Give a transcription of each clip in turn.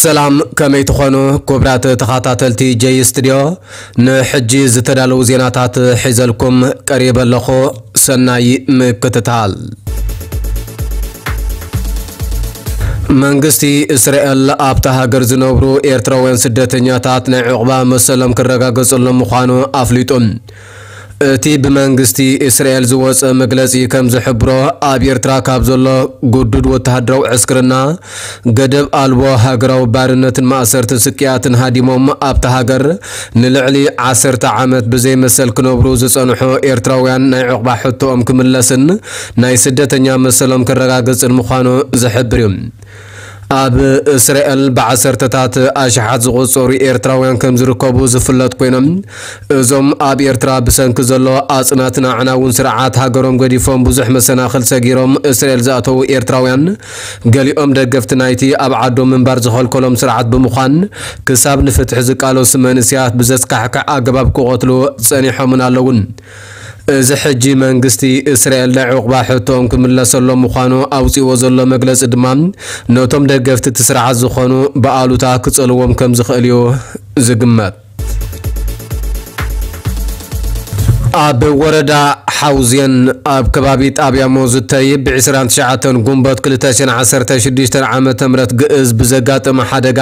ሰላም፣ ከመይ ትኾኑ ክቡራት ተኸታተልቲ ጀይ ስቱድዮ? ንሕጂ ዝተዳለዉ ዜናታት ሒዘልኩም ቀሪበ ኣለኹ። ሰናይ ምክትታል። መንግስቲ እስራኤል ኣብታ ሃገር ዝነብሩ ኤርትራውያን ስደተኛታት ናይ ዕቑባ መሰሎም ክረጋገጸሎም ምዃኑ ኣፍሊጡ። እቲ ብመንግስቲ እስራኤል ዝወጸ መግለጺ ከም ዝሕብሮ፣ ኣብ ኤርትራ ካብ ዘሎ ግዱድ ወተሃደራዊ ዕስክርና፣ ገደብ ኣልቦ ሃገራዊ ባርነትን ማእሰርትን ስቅያትን ሃዲሞም ኣብታ ሃገር ንልዕሊ ዓሰርተ ዓመት ብዘይ መሰል ክነብሩ ዝጸንሑ ኤርትራውያን ናይ ዕቑባ ሕቶኦም ክምለስን ናይ ስደተኛ መሰሎም ክረጋገጽን ምዃኑ ዝሕብር እዩ። ኣብ እስራኤል ብዓሰርተታት ኣሽሓት ዝቑጸሩ ኤርትራውያን ከም ዝርከቡ ዝፍለጥ ኮይኖም፣ እዞም ኣብ ኤርትራ ብሰንኪ ዘሎ ኣጽናትን ኣዕናውን ስርዓት ሃገሮም ገዲፎም ብዙሕ መሰናኽል ሰጊሮም እስራኤል ዝኣተዉ ኤርትራውያን፣ ገሊኦም ደገፍቲ ናይቲ ኣብ ዓዶም ምንባር ዝኸልከሎም ስርዓት ብምዃን፣ ክሳብ ንፍትሒ ዝቃለሱ መንእሰያት ብዘስካሕክሕ ኣገባብ ክቐትሉ ጸኒሖምን ኣለውን። እዚ ሕጂ መንግስቲ እስራኤል ናይ ዕቑባ ሕቶኦም ክምለሰሎም ምዃኑ ኣውጺእዎ ዘሎ መግለጺ ድማ፣ ነቶም ደገፍቲ እቲ ስርዓት ዝኾኑ ብኣሉታ ክጸልዎም ከም ዝኽእል እዩ ዝግመት። ኣብ ወረዳ ሓውዜን ኣብ ከባቢ ጣብያ ሞዝተይ ብ ዕስራን ትሽዓተን ጉንበት ክልተ ሽሕን ዓሰርተ ሽዱሽተን ዓመተ ምህረት ግእዝ ብዘጋጠመ ሓደጋ፣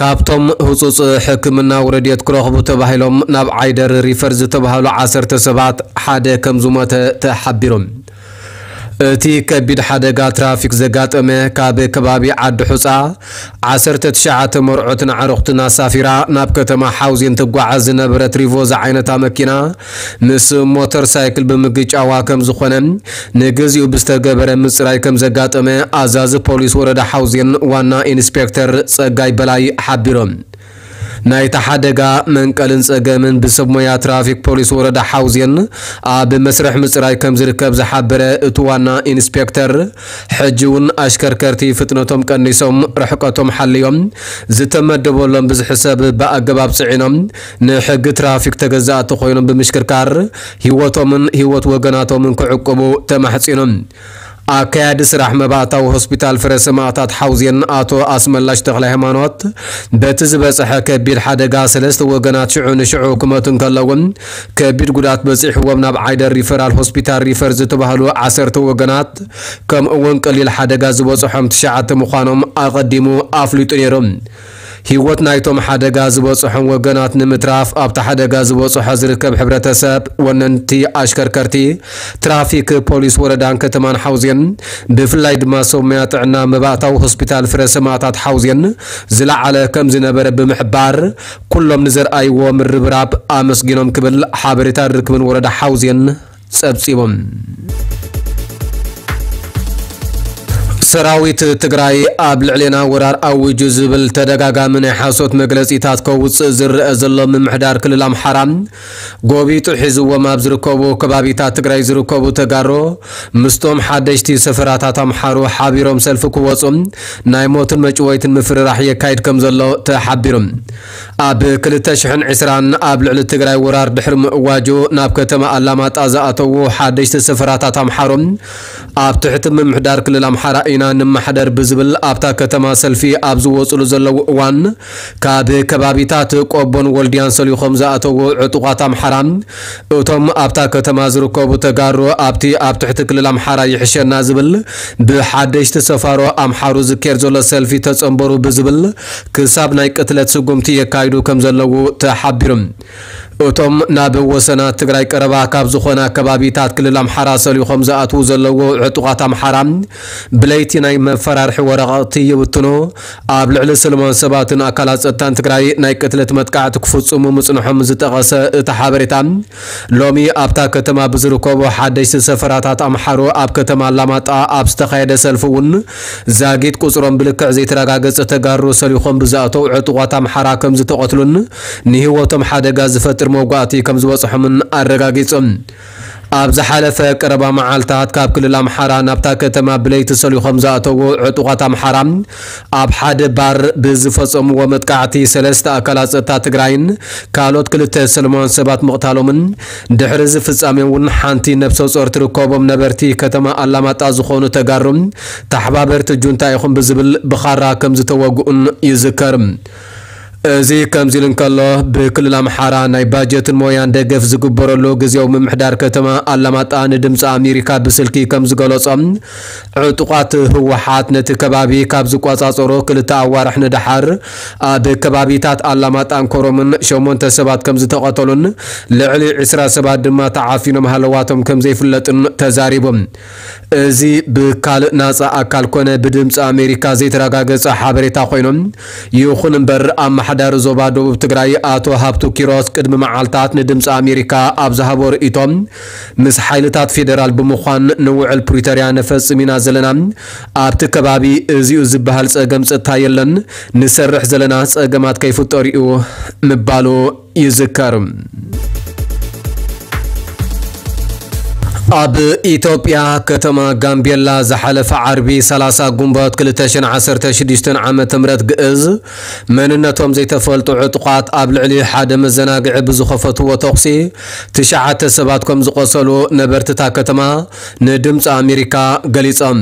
ካብቶም ህጹጽ ሕክምናዊ ረድኤት ክረኽቡ ተባሂሎም ናብ ዓይደር ሪፈር ዝተባህሉ ዓሰርተ ሰባት ሓደ ከም ዝሞተ ተሓቢሩ። እቲ ከቢድ ሓደጋ ትራፊክ ዘጋጠመ፣ ካብ ከባቢ ዓዲ ሑጻ ዓሰርተ ትሽዓተ መርዑትን ኣዕሩኽትን ኣሳፊራ ናብ ከተማ ሓውዜን ትጓዓዝ ዝነበረት ሪቮ ዝዓይነታ መኪና ምስ ሞተር ሳይክል ብምግጫዋ ከም ዝኾነ፣ ንግዚኡ ብዝተገበረ ምጽራይ ከም ዘጋጠመ ኣዛዚ ፖሊስ ወረዳ ሓውዜን ዋና ኢንስፔክተር ጸጋይ በላይ ሓቢሮም። ናይቲ ሓደጋ መንቀልን ጸገምን ብሰብ ሞያ ትራፊክ ፖሊስ ወረዳ ሓውዜን ኣብ መስርሕ ምጽራይ ከም ዝርከብ ዝሓበረ እቲ ዋና ኢንስፔክተር፣ ሕጂ እውን ኣሽከርከርቲ ፍጥነቶም ቀኒሶም፣ ርሕቀቶም ሓልዮም፣ ዝተመደበሎም ብዝሒ ሰብ ብኣገባብ ጽዒኖም ንሕጊ ትራፊክ ተገዛእቲ ኮይኖም ብምሽክርካር ህይወቶምን ህይወት ወገናቶምን ክዕቅቡ ተማሕጺኖም። ኣካያዲ ስራሕ መባእታዊ ሆስፒታል ፍረ ሰማእታት ሓውዜን ኣቶ ኣስመላሽ ተኽለ ሃይማኖት፣ በቲ ዝበጽሐ ከቢድ ሓደጋ ሰለስተ ወገናት ሽዑ ንሽዑ ክመቱ እንከለውን፣ ከቢድ ጉዳት በጺሕዎም ናብ ዓይደር ሪፈራል ሆስፒታል ሪፈር ዝተባህሉ ዓሰርተ ወገናት፣ ከምኡ እውን ቀሊል ሓደጋ ዝበጽሖም ትሽዓተ ምዃኖም ኣቐዲሙ ኣፍሊጡ ነይሩ። ህይወት ናይቶም ሓደጋ ዝበጽሖም ወገናት ንምትራፍ ኣብቲ ሓደጋ ዝበጽሖ ዝርከብ ሕብረተሰብ፣ ወነንቲ ኣሽከርከርቲ፣ ትራፊክ ፖሊስ ወረዳን ከተማን ሓውዜን፣ ብፍላይ ድማ ሰብ ሞያ ጥዕና መባእታዊ ሆስፒታል ፍረ ሰማእታት ሓውዜን ዝለዓለ ከም ዝነበረ ብምሕባር፣ ኩሎም ንዘርኣይዎ ምርብራብ ኣመስጊኖም ክብል ሓበሬታ ርክብን ወረዳ ሓውዜን ጸብጺቦም። ሰራዊት ትግራይ ኣብ ልዕሌና ወራር ኣዊጁ ዝብል ተደጋጋሚ ናይ ሓሶት መግለጺታት ከውጽእ ዝረአ ዘሎ ምምሕዳር ክልል ኣምሓራ፣ ጎቢጡ ሒዝዎም ኣብ ዝርከቡ ከባቢታት ትግራይ ዝርከቡ ተጋሮ ምስቶም ሓደሽቲ ሰፈራታት ኣምሓሩ ሓቢሮም ሰልፊ ክወጹ ናይ ሞትን መጭወይትን ምፍርራሕ የካይድ ከም ዘሎ ተሓቢሩ። ኣብ ክልተ ሽሕን ዕስራን ኣብ ልዕሊ ትግራይ ወራር ድሕሪ ምእዋጁ ናብ ከተማ ኣላማጣ ዝኣተዉ ሓደሽቲ ሰፈራታት ኣምሓሩ ኣብ ትሕቲ ምምሕዳር ክልል ኣምሓራ ኢና ንመሓደር ብዝብል ኣብታ ከተማ ሰልፊ ኣብ ዝወፅሉ ዘለዉ እዋን፣ ካብ ከባቢታት ቆቦን ወልድያን ሰሊኾም ዝኣተዉ ዕጡቓት ኣምሓራ፣ እቶም ኣብታ ከተማ ዝርከቡ ተጋሩ ኣብቲ ኣብ ትሕቲ ክልል ኣምሓራ ይሕሸና ዝብል ብሓደሽቲ ሰፋሮ ኣምሓሩ ዝካየድ ዘሎ ሰልፊ ተጸንበሩ ብዝብል ክሳብ ናይ ቅትለት ስጉምቲ የካይዱ ከም ዘለዉ ተሓቢሩ። እቶም ናብ ወሰናት ትግራይ ቀረባ ካብ ዝኾና ከባቢታት ክልል ኣምሓራ ሰሊኾም ዝኣትዉ ዘለዉ ዕጡቓት ኣምሓራ፣ ብለይቲ ናይ መፈራርሒ ወረቓቕቲ ይብትኑ፣ ኣብ ልዕሊ ሰላማውያን ሰባትን ኣካላት ጸጥታን ትግራይ ናይ ቅትለት መጥቃዕቲ ክፍጽሙ ምጽንሖም ዝጠቐሰ እቲ ሓበሬታ፣ ሎሚ ኣብታ ከተማ ብዝርከቡ ሓደሽቲ ሰፈራታት ኣምሓሩ ኣብ ከተማ ኣላማጣ ኣብ ዝተኻየደ ሰልፊ እውን፣ ዛጊት ቁጽሮም ብልክዕ ዘይተረጋገጸ ተጋሩ ሰሊኾም ብዝኣተው ዕጡቓት ኣምሓራ ከም ዝተቐትሉን ንህይወቶም ሓደጋ ዝፈጥር መውጋእቲ ከም ዝበጽሖምን ኣረጋጊጹ። ኣብ ዝሓለፈ ቀረባ መዓልታት ካብ ክልል ኣምሓራ ናብታ ከተማ ብለይቲ ሰልዩ ከም ዝኣተዉ ዕጡቓት ኣምሓራ ኣብ ሓደ ባር ብዝፈጸምዎ መጥቃዕቲ ሰለስተ ኣካላት ጸጥታ ትግራይን ካልኦት ክልተ ሰለማውያን ሰባት ምቕታሎምን፣ ድሕሪ እዚ ፍጻሜ እውን ሓንቲ ነብሰ ጾር ትርከቦም ነበርቲ ከተማ ኣላማጣ ዝኾኑ ተጋሩ ተሓባበርቲ ጁንታ ኢኹም ብዝብል ብኻራ ከም ዝተወግኡን ይዝከር። እዚ ከምዚ ኢሉ እንከሎ፣ ብክልል ኣምሓራ ናይ ባጀትን ሞያን ደገፍ ዝግበረሉ ግዜያዊ ምምሕዳር ከተማ ኣላማጣ ንድምፂ ኣሜሪካ ብስልኪ ከም ዝገለጾ፣ ዕጡቓት ህወሓት ነቲ ከባቢ ካብ ዝቆጻጸሩ ክልተ ኣዋርሕ ንደሓር፣ ኣብ ከባቢታት ኣላማጣን ኮረምን ሸሞንተ ሰባት ከም ዝተቐተሉን ልዕሊ ዕስራ ሰባት ድማ ተዓፊኖም ሃለዋቶም ከም ዘይፍለጥን ተዛሪቡ። እዚ ብካልእ ናጻ ኣካል ኮነ ብድምፂ ኣሜሪካ ዘይተረጋገጸ ሓበሬታ ኮይኖም፣ ይኹን እምበር ኣመሓዳሪ ዞባ ደቡብ ትግራይ ኣቶ ሃብቱ ኪሮስ ቅድሚ መዓልታት ንድምፂ ኣሜሪካ ኣብ ዝሃቦ ርእይቶ፣ ምስ ሓይልታት ፌደራል ብምዃን ንውዕል ፕሪቶርያ ነፈጽም ኢና ዘለና፣ ኣብቲ ከባቢ እዚኡ ዝበሃል ጸገም ጸጥታ የለን፣ ንሰርሕ ዘለና ጸገማት ከይፍጠሩ እዩ ምባሉ ይዝከር። ኣብ ኢትዮጵያ ከተማ ጋምቤላ ዝሓለፈ ዓርቢ ሰላሳ ጉንበት ክልተ ሽሕን ዓሰርተ ሽዱሽተን ዓመተ ምህረት ግእዝ መንነቶም ዘይተፈልጡ ዕጡቓት ኣብ ልዕሊ ሓደ መዘናግዒ ብዝኸፈትዎ ተኹሲ ትሽዓተ ሰባት ከም ዝቖሰሉ ነበርትታ ከተማ ንድምፂ ኣሜሪካ ገሊጾም።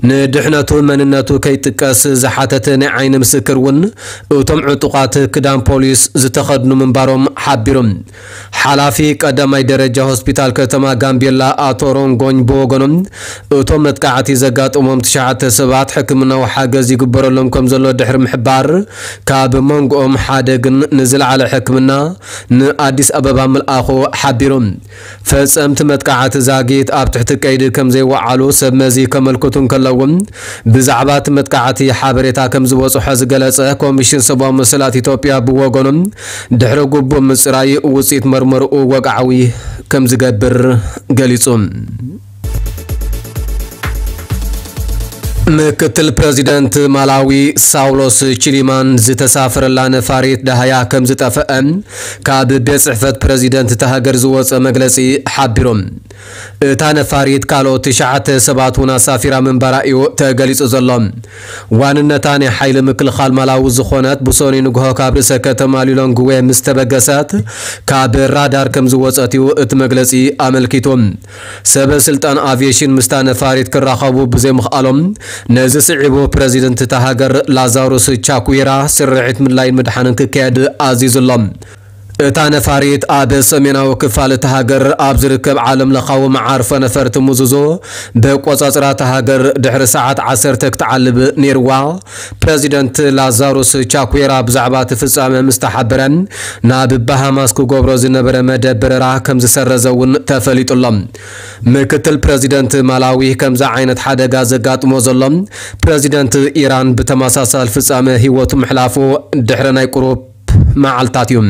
ንድሕነቱ መንነቱ ከይጥቀስ ዝሓተተ ናይ ዓይኒ ምስክር እውን እቶም ዕጡቓት ክዳን ፖሊስ ዝተኸድኑ ምንባሮም ሓቢሩ። ሓላፊ ቀዳማይ ደረጃ ሆስፒታል ከተማ ጋምቤላ ኣቶ ሮንጎኝ ብወገኖም፣ እቶም መጥቃዕቲ ዘጋጠሞም ትሽዓተ ሰባት ሕክምናዊ ሓገዝ ይግበረሎም ከም ዘሎ ድሕሪ ምሕባር፣ ካብ መንጎኦም ሓደ ግን ንዝለዓለ ሕክምና ንኣዲስ ኣበባ ምልኣኹ ሓቢሩ። ፈጸምቲ መጥቃዕቲ ዛጊት ኣብ ትሕቲ ቀይዲ ከም ዘይወዓሉ ሰብ መዚ ከመልክቱ እንከለዉ፣ ብዛዕባ እቲ መጥቃዕቲ ሓበሬታ ከም ዝበጽሖ ዝገለጸ ኮሚሽን ሰብኣዊ መሰላት ኢትዮጵያ ብወገኑ፣ ድሕሪ ግቡእ ምጽራይ ውጽኢት መርመርኡ ወግዓዊ ከም ዝገብር ገሊጹ። ምክትል ፕረዚደንት ማላዊ ሳውሎስ ቺሊማን ዝተሳፈረላ ነፋሪት ደሃያ ከም ዝጠፈአ ካብ ቤት ጽሕፈት ፕረዚደንት እታ ሃገር ዝወጸ መግለጺ ሓቢሩ። እታ ነፋሪት ካልኦት ትሽዓተ ሰባት እውን ኣሳፊራ ምንባራ እዩ ተገሊጹ ዘሎ። ዋንነታ ናይ ሓይሊ ምክልኻል ማላዊ ዝኾነት ብሰኑይ ንግሆ ካብ ርእሰ ከተማ ሊሎንግዌ ምስ ተበገሰት ካብ ራዳር ከም ዝወጸት እዩ እቲ መግለጺ ኣመልኪቱ። ሰበ ስልጣን ኣቪዬሽን ምስታ ነፋሪት ክራኸቡ ብዘይምኽኣሎም፣ ነዚ ስዒቡ ፕረዚደንት እታ ሃገር ላዛሩስ ቻኩዌራ ስርሒት ምድላይን ምድሓንን ክካየድ ኣዚዙ ኣሎ። እታ ነፋሪት ኣብ ሰሜናዊ ክፋል እታ ሃገር ኣብ ዝርከብ ዓለም ለኻዊ መዓርፎ ነፈርቲ ሙዙዞ ብቆጻጽራ እታ ሃገር ድሕሪ ሰዓት ዓሰርተ ክትዓልብ ነይርዋ። ፕረዚደንት ላዛሩስ ቻኩዌራ ብዛዕባ እቲ ፍጻመ ምስ ተሓበረ፣ ናብ ባሃማስ ክገብሮ ዝነበረ መደብ በረራ ከም ዝሰረዘ እውን ተፈሊጡ ኣሎ። ምክትል ፕረዚደንት ማላዊ ከምዚ ዓይነት ሓደጋ ዘጋጥሞ ዘሎ ፕረዚደንት ኢራን ብተመሳሳሊ ፍጻመ ህይወቱ ምሕላፉ ድሕሪ ናይ ቁሩብ መዓልታት እዩ።